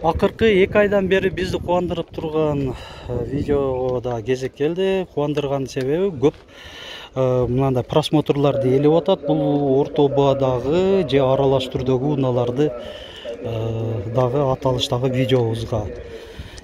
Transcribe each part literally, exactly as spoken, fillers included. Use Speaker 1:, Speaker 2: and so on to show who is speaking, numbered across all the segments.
Speaker 1: Акыркы эки айдан бери бизди кубандырып турган видеода кезек келди. Кубандырган себеби көп мынандай просмотрларды ээлеп атат. Бул орто баадагы же аралаш түрдөгү унааларды дагы аталыштагы видеобузга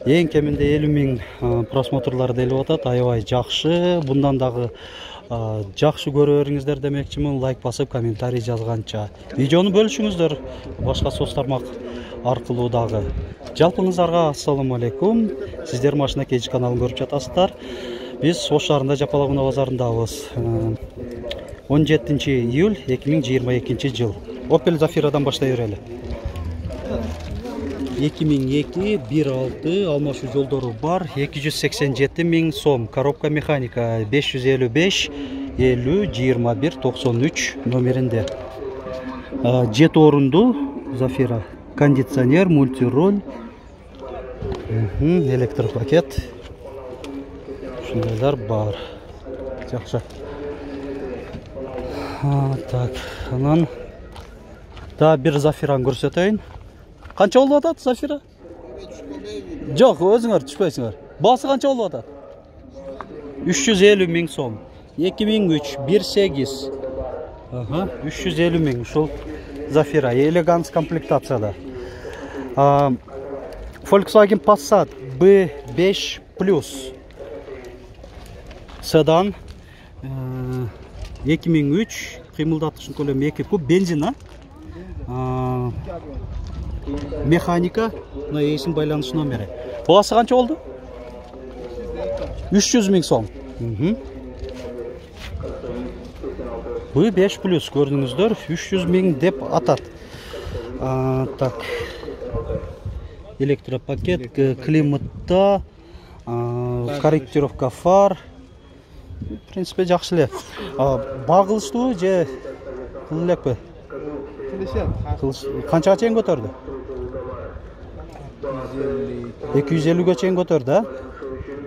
Speaker 1: эң кеминде элүү миң просмотрларды ээлеп атат. Аябай жакшы. Bundan дагы жакшы көрө бериңиздер демекчимин. Лайк басып, комментарий жазганча. Видеону бөлүшүңүздөр башка соц тармак аркылуу дагы. Жалпыңыздарга ассаламу алейкум. Сиздер Машина Кеч каналын көрүп жатасыздар. Биз Ош шаарында Жапалак унаа базарындабыз. он жетинчи июль эки миң жыйырма экинчи жыл. Opel Zafira'дан баштай берели. эки миң эки бир алты алмашуу жолдору бар. эки жүз сексен жети миң сом. Коробка механика беш жүз элүү беш элүү жыйырма бир токсон үч номеринде. жети орунду Zafira. Кондиционер, мультироль, электропакет. Шундайлар бар. Жакшы. Так, анан да бир Zafira'ны көрсөтөйүн. Канча болуп атат Zafira? Жок, өзүңөр түшпөйсүңөр. Баасы канча болуп атат? үч жүз элүү миң сом. эки миң үч бир сегиз. Ага, үч жүз элүү миң. Ушул Zafira элеганс комплектацияда. Volkswagen Passat би беш плюс. Седан эки миң үч, кыймылдатыштын көлөмү эки куб, бензин, а? Механика, мына эсин байланыш номери. Баасы канча болду? үч жүз миң сом. би беш плюс көрдүңүздөр, үч жүз миң деп атат. Так. Электропакет, климатта, корректировка фар. В принципе, жакшы эле. Багылыштуу же кыл элекпи? Канчага чейин көтөрдү? эки жүз элүүгө чейин көтөрдү, а?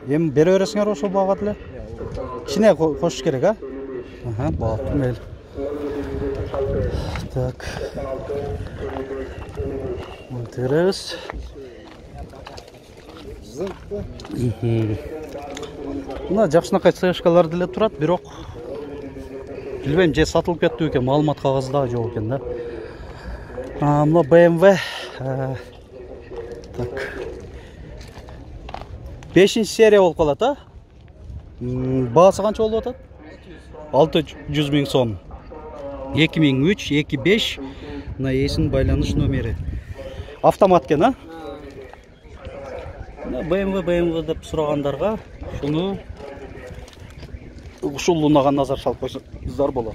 Speaker 1: Эми бере бересиңер ошол багат эле. Кичине кошуш керек, а? Ага, болуптур, мейли. Так. Интерес. Мына жакшынакай цешкалар деле турат, бирок билбейм, же сатылып кетти экен, маалымат кагазы дагы жок экен да. Мына бэ эм вэ. Так. бешинчи серия болуп калат, а? Баасы канча болуп атат? алты жүз миң сом. эки миң үч эки беш. Мына эсин байланыш номери. Автомат экен, а? бэ эм вэ бэ эм вэ деп сурагандарга шуну ушул унага назар салып койсоңуздар болот.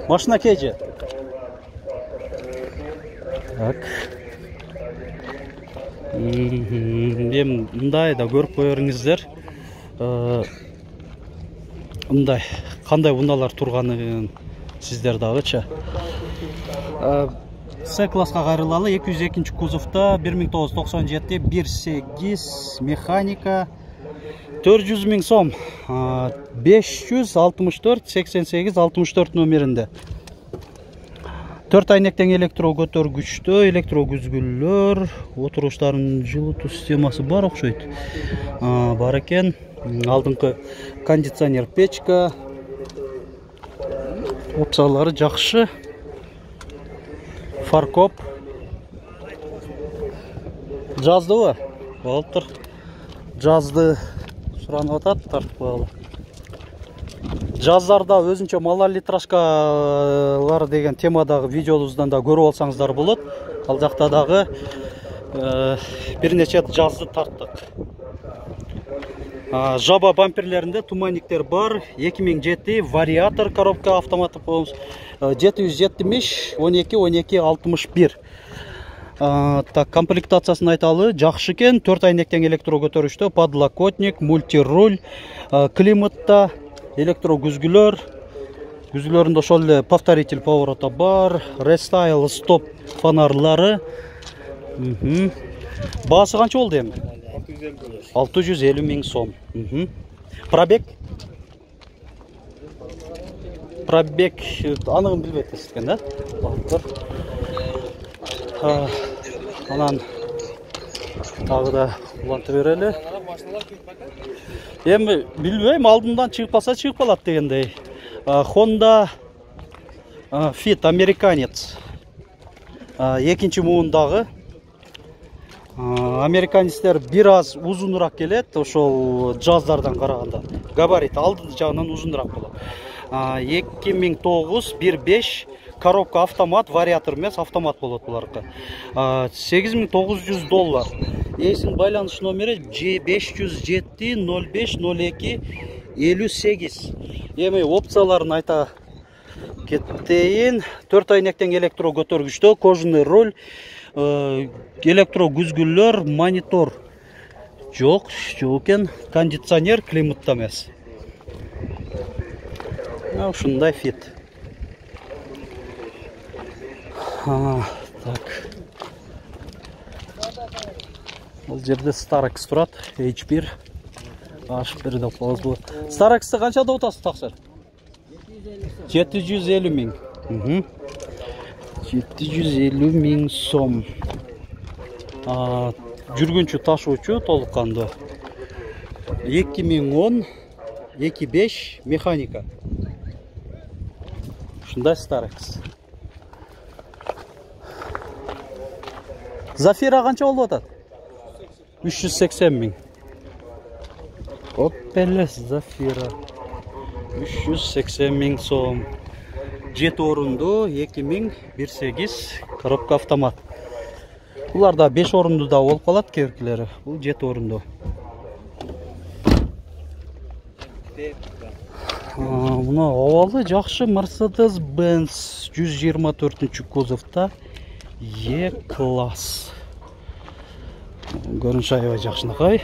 Speaker 1: Машина Кеч. Так. Эми мындай да көрүп коериңиздер. Мындай кандай унаалар турганын сиздер дагычы. С класска кайрылалы, эки жүз экинчи кузовда бир миң тогуз жүз токсон жети бир сегиз механика төрт жүз миң сом. беш жүз алтымыш төрт сексен сегиз алтымыш төрт номеринде. төрт айнектен электро көтөргүчтө, электро күзгүлөр, отуруштардын жылытуу системасы бар окшойт. Бар экен. Алдыңкы кондиционер, печка. Опциялары жакшы. Фаркоп. Жаздыбы? Болуптур. Жазды суранып атат, тартып коелу. Жаздарда өзүнчө малолитражкалар деген темадагы видеобуздан да көрүп алсаңыздар болот. Ал жакта дагы бир нече жазды тарттык. Жаба бамперлеринде туманниктер бар. эки миң жети вариатор коробка автоматы болмуш. жети жүз жетимиш он эки он эки алтымыш бир. Так, комплектациясын айталы, жакшы экен. төрт айнектен электро көтөрүштө, подлокотник, мультируль, климатта, электро күзгүлөр. Күзгүлөрүндө ошол эле повторитель поворота бар, рестайл стоп фонарлары. Баасы канча болду эми? алты жүз элүү миң сом. Пробег пробег анығын билбейт экен да. Анан дагы да улантып берели. Эми билбейм, алдымдан чыгып калса чыгып калат дегендей. Honda Fit американец. Экинчи муундагы. Американецтер бир аз узунураак келет, ошол жаздардан караганда. Габарит алды жагынан узунураак болот. эки миң тогуз бир беш коробка автомат, вариатор эмес, автомат болот буларкы. сегиз миң тогуз жүз доллар. Эсин байланыш номери беш жүз жети ноль беш ноль эки элүү сегиз. Эми опцияларын айта кетейин. төрт айнектен электро көтөргүчтө, кожаный руль, электро күзгүлөр, монитор жок, жок экен, кондиционер, климатта эмес. Ушундай Fit. Так. Бул жерде Starex турат, эйч бир. Аш бир деп коебуз бул. Starex'ти канчада утасыз таксыр? жети жүз элүү миң. жети жүз элүү миң сом. Жүргүнчү ташуучу толук кандуу. эки миң он эки беш механика. Ушундай Starex. Zafira канча болуп атат? үч жүз сексен миң. Opel Zafira. үч жүз сексен миң сом. жети орунду, эки миң бир сегиз коробка автомат. Булар да беш орунду да болуп калат кебиркилери. Бул жети орунду. Мына овалы жакшы Mercedes-Benz жүз жыйырма төртүнчү кузовта E-класс. Көрүнүш аябай жакшынакай.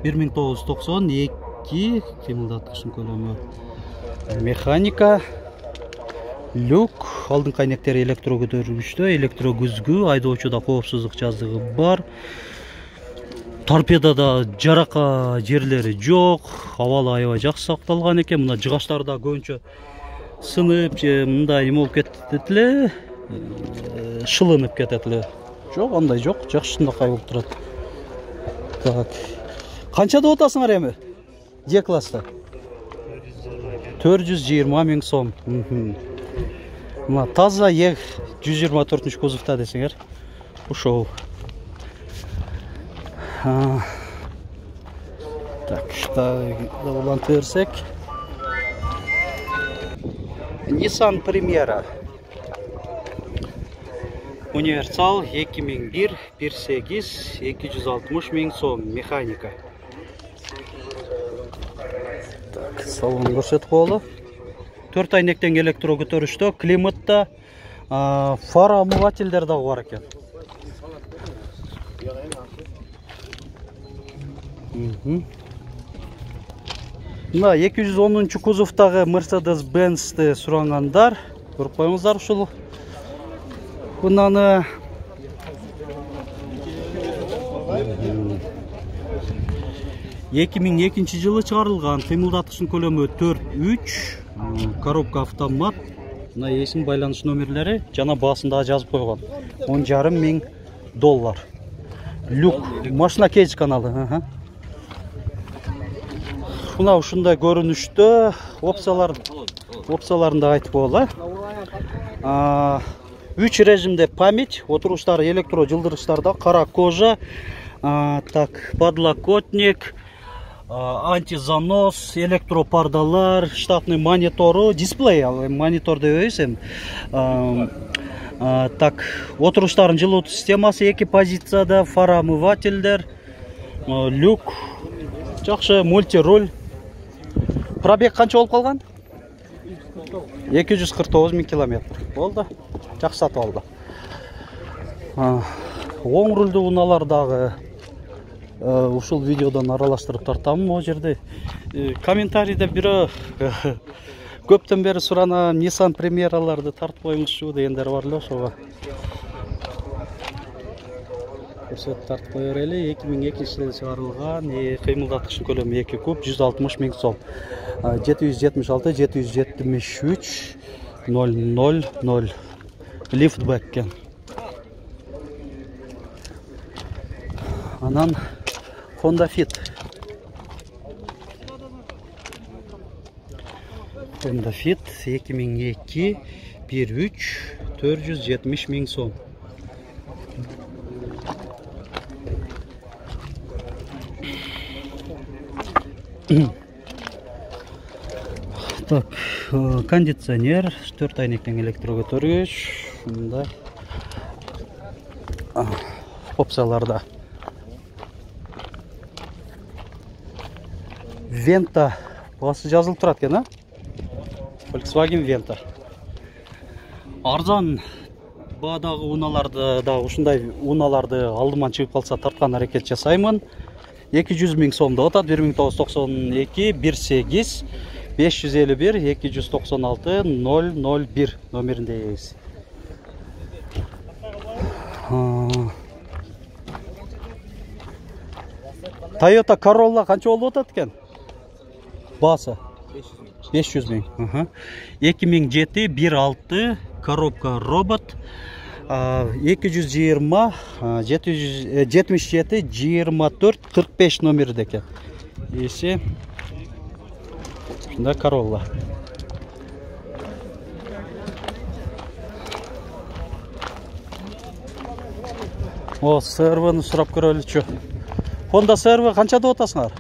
Speaker 1: бир миң тогуз жүз токсон эки кыймылдаткычтын көлөмү. Механика, люк, алдыңкы айнектери электро көтөргүчтө, электро күзгү, айдоочуда коопсуздук жазыгы бар. Торпедада жарака жерлери жок, абалы аябай жакшы сакталган экен. Мына жыгаштар да көбүнчө сынып же мындай эме болуп кетет эле, шылынып кетет эле. Жок, андай жок, жакшынакай болуп турат. Так. Канчада отасыңар эми? E-класста. төрт жүз жыйырма миң сом. Мына таза Е жүз жыйырма төртүнчү кузовта десеңер. Ушол. Так, да улантып берсек. Nissan Primera. Универсал эки миң бир бир сегиз эки жүз алтымыш миң сом, механика. Так, салон көрсөтүп коелу. төрт айнектен электро көтөрүштө, климатта, фара омывательдер дагы бар экен. Мына эки жүз онунчу кузовтагы Mercedes-Benz'ти сурангандар, көрүп коюңуздар ушул. Бунаны эки миң экинчи жылы чыгарылган, кыймылдаткычтын көлөмү төрт үч, коробка автомат. Мына эсин байланыш номерлери жана баасында жазып койгон. он жарым миң доллар. Люк, машина кейдж каналы. Мына ушундай көрүнүштө опциялар опцияларында айтып коелу. үч режимде память, отуруштары электро жылдыргычтарда, кара кожа, так, подлокотник, антизанос, электропардалар, штатный монитору, дисплей, монитор дебейбиз эми. Так, отуруштардын жылытуу системасы эки позицияда, фара омывательдер, люк, жакшы мультируль. Пробег канча болуп калган? эки жүз кырк тогуз миң километр. Болду. Жакшы сатып алды. Оң рулду унаалар дагы ушул видеодон аралаштырып тартамын. Могу жерде комментарийде бирөө көптөн бери суранам, Nissan Primerаларды тартып коюңузчу дегендер бар эле, ошого. көрсөтүп тартып кое берели. эки миң экинчи жылы чыгарылган, кыймылдаткычтын көлөмү эки куб, жүз алтымыш миң сом. жети жүз жетимиш алты жети жүз жетимиш үч ноль ноль ноль лифтбэк экен. Анан Honda Fit. Honda Fit эки миң эки бир үч төрт жүз жетимиш миң сом. Так, кондиционер, төрт айнектен электрокөтөргүч, мындай опцияларда. Venta басы жазылып турат экен, а? Volkswagen Venta. Арзан баадагы унааларды да ушундай унааларды алдыман чыгып калса тарткан аракет жасаймын. эки жүз миң сомдо атат. бир миң тогуз жүз токсон эки бир сегиз беш жүз элүү бир эки жүз токсон алты ноль ноль бир номеринде эгиз. Toyota Corolla канча болуп атат экен? Басы беш жүз миң. эки миң жети бир алты коробка робот. эки жүз жыйырма жетимиш жети жыйырма төрт кырк беш номерде экен. Эси ушундай Corolla. О, си эр ви-ни сурап көрөлүчү. Honda си эр ви канча деп атасыңар?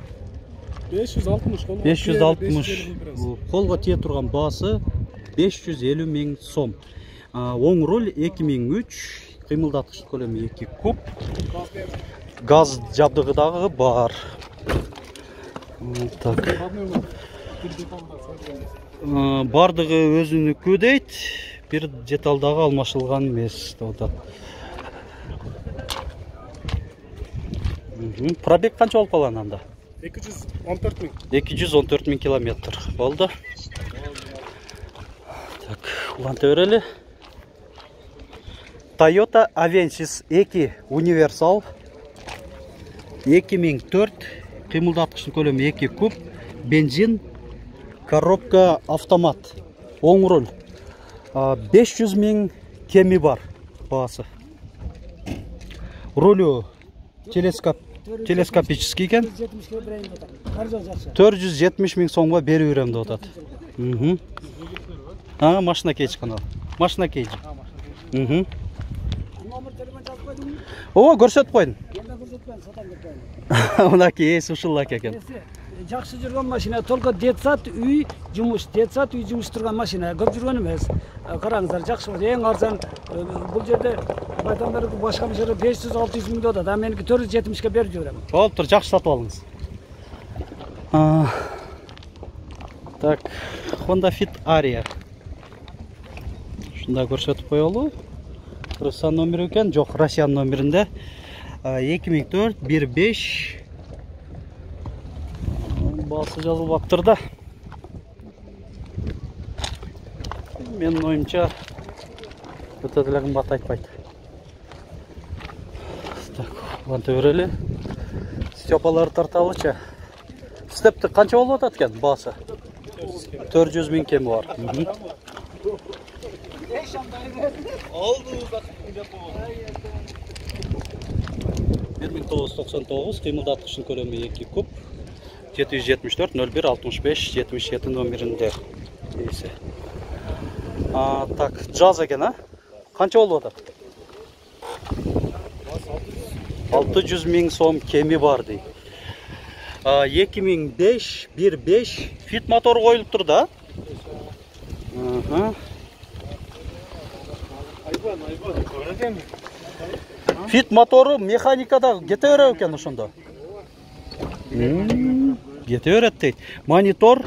Speaker 2: беш жүз алтымыш.
Speaker 1: беш жүз алтымыш. Колго тие турган баасы беш жүз элүү миң сом. Оң руль эки миң үч, кыймылдаткыч көлөмү эки куб. Газ жабдыгы дагы бар. Так. Бардыгы өзүнүкү дейт. Бир деталь дагы алмашылган эмес деп атат. Пробег канча болуп калган анда?
Speaker 2: эки жүз он төрт миң.
Speaker 1: эки жүз он төрт миң километр болду. Так, уланта берели. Toyota Avensis эки универсал эки миң төрт, кыймылдаткычтын көлөмү эки куб, бензин, коробка автомат, оң руль. беш жүз миң кеми бар баасы. Рулю телескоп телескопический экен. төрт жүз жетимиш миң сомго берип берем деп атат. Мм. А, машина кейж канал. Машина кейж. Мм.
Speaker 2: Номер телефон жазып койдуңбу?
Speaker 1: О, көрсөтүп койдум.
Speaker 2: Эмне көрсөтпөйм, сатам деп койдум.
Speaker 1: Мынакей эс ушул экен.
Speaker 2: Жакшы жүргөн машина, только детсад үй жумуш, детсад үй жумуш турган машина, көп жүргөн эмес. Караңыздар, жакшы болот. Эң арзан бул жерде байтандар башка машина беш жүз алты жүз миң деп атат. А меники төрт жүз жетимишке берип жиберем.
Speaker 1: Болуптур, жакшы сатып алыңыз. Так, Honda Fit Aria. Ушундай көрсөтүп коелу. Кыргызстан номери экен, жок, Россиянын номеринде. эки миң төрт бир беш баасы жазылбаптыр да. Менин оюмча өтө деле кымбат айтпайт. Так, уланта берели. Степаларды тарталычы. Степти канча болуп атат экен баасы? төрт жүз миң кеми бар. бир миң тогуз жүз токсон тогуз, кыймылдаткычтын көлөмү эки куб, жети жүз жетимиш төрт ноль бир алтымыш беш жетимиш жети номеринде. Эси. А, так, жаз экен, а? Канча болуп атат? алты жүз миң сом кеми бар дейт. эки миң беш бир беш Fit мотор коюлуптур да? Аха.
Speaker 2: Айбан, айбан, көрөм.
Speaker 1: Fit мотору механикада кете берет экен ошондо. Кете берет дейт. Монитор,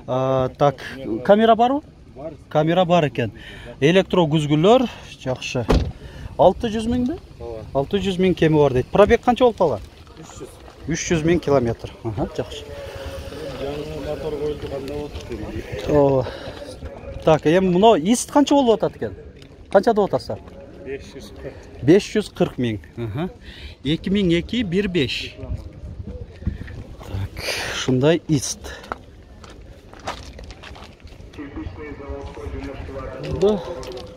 Speaker 1: так, камера барбы?
Speaker 2: Бар.
Speaker 1: Камера бар экен. Электро күзгүлөр, жакшы. алты жүз миңби?
Speaker 2: Ооба.
Speaker 1: алты жүз миң кеми бар дейт. Пробег канча болуп калган?
Speaker 2: үч жүз.
Speaker 1: үч жүз миң километр. Аха, жакшы.
Speaker 2: Жаңы мотор коюлду кандай болот?
Speaker 1: Ооба. Так, эми муну ист канча болуп атат экен? Канча деп атасыздар? беш жүз кырк миң. эки миң эки бир беш. Так, шундай ист.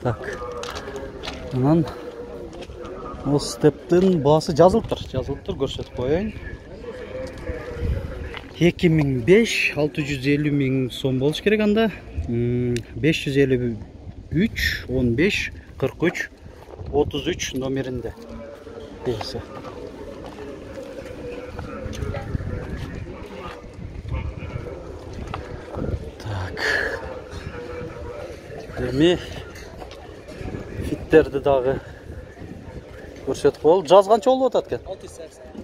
Speaker 1: Так. Анан ол стептин баасы жазылып тур, жазылып тур, көрсөтүп коеюн. эки миң беш, алты жүз элүү миң сом болуш керек анда. беш жүз элүү үч, он беш, кырк үч, отуз үч номеринде. Белгиси. Так. Эми фиттерди дагы көрсөтүп коелу. Жаз канча болуп атат экен?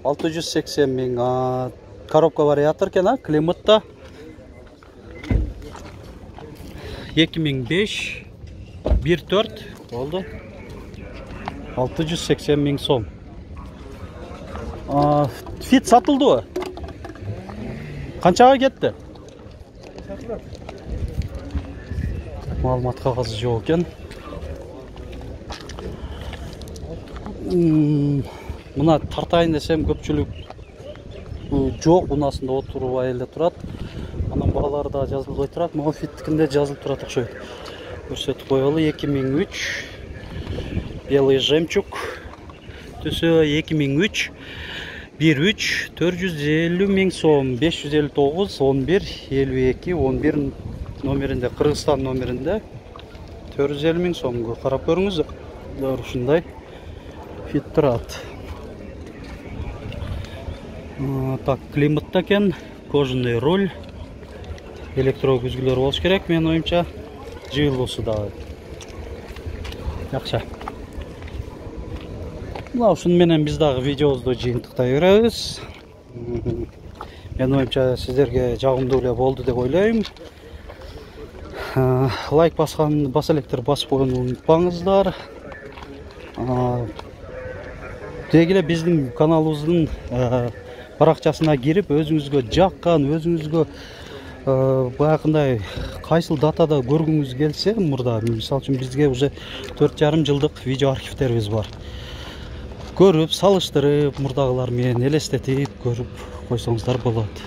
Speaker 1: алты жүз сексен миң. Коробка вариатор экен, а? Климатта. эки миң беш, бир төрт болду. алты жүз сексен миң сом. Фит сатылдыбы? Канчага кетти? Маалымат кагазы жок экен. Мына тартайын десем көпчүлүк жок, унаасында отурбай эле турат. Анан баалары да жазылбай турат. Могу фиттикинде жазылып турат окшойт. Көрсөтүп коелу. эки миң үч белый жемчуг түсү эки миң үч бир үч төрт жүз элүү миң сом. беш жүз элүү тогуз он бир элүү эки он бир номеринде, Кыргызстан номеринде төрт жүз элүү миң сомго карап көрүңүз. Ушундай фит турат. Так, климатта экен, кожаный руль, электро күзгүлөр болуш керек, менин оюмча. Жыйылуусу дагы жакшы. Мына ушуну менен биз дагы видеобузду жыйынтыктай беребиз. Менин оюмча сиздерге жагымдуу эле болду деп ойлойм. Лайк баскан баса электер басып койгонду унутпаңыздар. Деги эле биздин каналыбыздын баракчасына кирип, өзүңүзгө жаккан, өзүңүзгө баягындай кайсыл датада көргүңүз келсе, мурда мисалы үчүн бизге уже төрт жарым жылдык видео архивтерибиз бар. Көрүп, салыштырып, мурдагылар менен элестетип көрүп койсоңуздар болот.